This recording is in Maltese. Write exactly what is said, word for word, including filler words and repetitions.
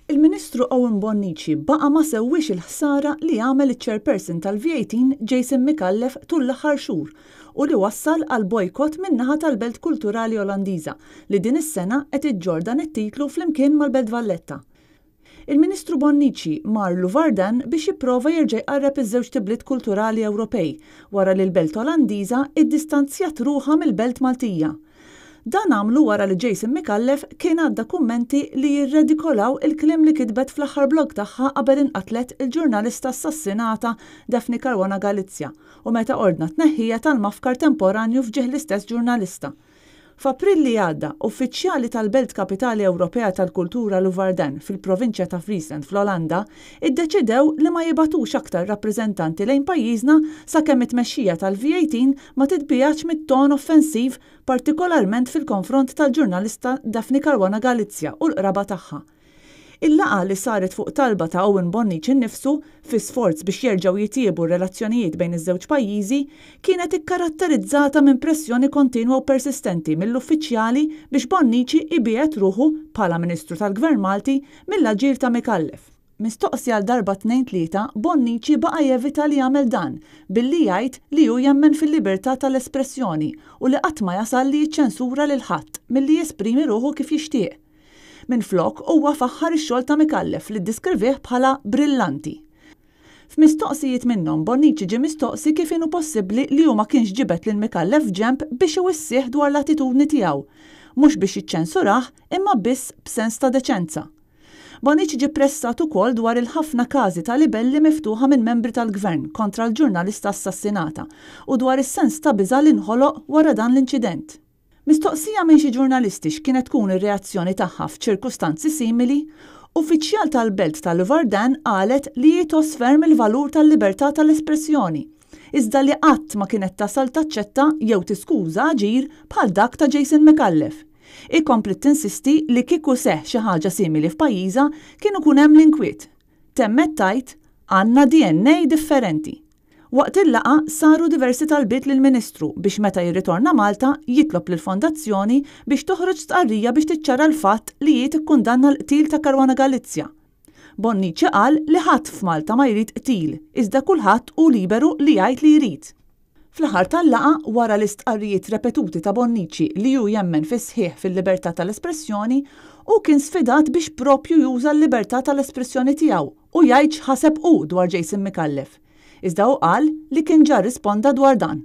Il-Ministru Owen Bonnici baqa' ma sewwiex il-ħsara li għamel iċ-chairperson tal-V eighteen Jason Micallef tul l-aħħar xhur u li wassal għal bojkott min-naħa tal-Belt Kulturali Olandiża li din is-sena qed iġġorr dan it-titlu flimkien mal-Belt Valletta. Il-Ministru Bonnici mar Leeuwarden biex jipprova jerġa' jqarreb iż-żewġt ibliet kulturali Ewropej wara li l-Belt Olandiża iddistanzjat ruħha mill-Belt Maltija. Dan għamlu wara li Jason Micallef kien għadda kummenti li jirredikolaw il-kliem li kitbet fl-aħħar blog tagħha qabel inqatlet il-ġurnalista assassinata Daphne Caruana Galizia u meta ordna tneħħija tal-mafkar temporanju f'ġieħ l-istess ġurnalista. F'April li għadda, uffiċjali tal-Belt Kapitali Ewropea tal-Kultura Leeuwarden fil-provinċja ta' Friesland fl-Olanda iddeċidew li ma jibagħtux aktar rappreżentanti lejn pajjiżna sakemm it-tmexxija tal-V eighteen ma titbiegħedx mit-ton offensiv, partikolarment fil-konfront tal-ġurnalista Daphne Caruana Galizia u l-qraba tagħha. Il-laqgħa, li saret fuq talba ta' Owen Bonnici nnifsu fi sforz biex jerġgħu jitjiebu r-relazzjonijiet bejn iż-żewġ pajjiżi, kienet ikkaratterizzata minn pressjoni kontinwa u persistenti mill-uffiċjali biex Bonnici ibiegħed ruħu bħala Ministru tal-Gvern Malti mill-aġir ta' Micallef. Mistoqsi għal darba, tnejn, tlieta, Bonnici baqa' jevita li jagħmel dan billi jgħid li hu jemmen fil-libertà tal-espressjoni u li qatt ma jasal li jiċċensura lil ħadd milli jesprimi ruħu kif jixtieq. Minflok, huwa faħħar ix-xogħol ta' Micallef li ddiskrivih bħala brillanti. F'mistoqsijiet minnhom, Bonnici ġie mistoqsi kif inhu possibbli li hu ma kienx ġibed lil Micallef ġemb biex iwissih dwar l-attitudni tiegħu, mhux biex jiċċensurah imma biss b'sens ta' deċenza. Bonnici ġie pressat ukoll dwar il-ħafna każi ta' libelli miftuħa minn membri tal-gvern kontra l-ġurnalista assassinata u dwar is-sens ta' biża' li nħoloq wara dan l-inċident. Mistoqsija minn xi ġurnalisti x'kienet tkun ir-reazzjoni tagħha f'ċirkustanzi simili, uffiċjal tal-Belt tal-Leeuwarden qalet li tgħożż ferm il-valur tal-libertà tal-espressjoni, iżda li qatt ma kienet tasal taċċetta jew tiskuża aġir bħal dak ta' Jason Micallef. Kompliet tinsisti li kieku seħħ xi ħaġa simili f'pajjiżha kien ikun hemm l-inkwiet. Temmet tgħid, "Għandna D N A differenti." Waqt il-laqgħa saru diversi talbiet lill-Ministru biex meta jirritorna Malta jitlob lill-Fondazzjoni biex toħroġ stqarrija biex tiċċara l-fatt li hi tikkundanna l-qtil ta' Caruana Galizia. Bonnici qal li ħadd f'Malta ma jrid qtil, iżda kulħadd hu liberu li jgħid li jrid. Fl-aħħar tal-laqgħa, wara l-istqarrijiet repetuti ta' Bonnici li hu jemmen fis-sħiħ fil-libertà tal-espressjoni, u kien sfidat biex propju juża l-libertà tal-espressjoni tiegħu u jgħid x'ħaseb hu dwar Jason Micallef. Iżda hu qal li kien ġa risponda dwar dan.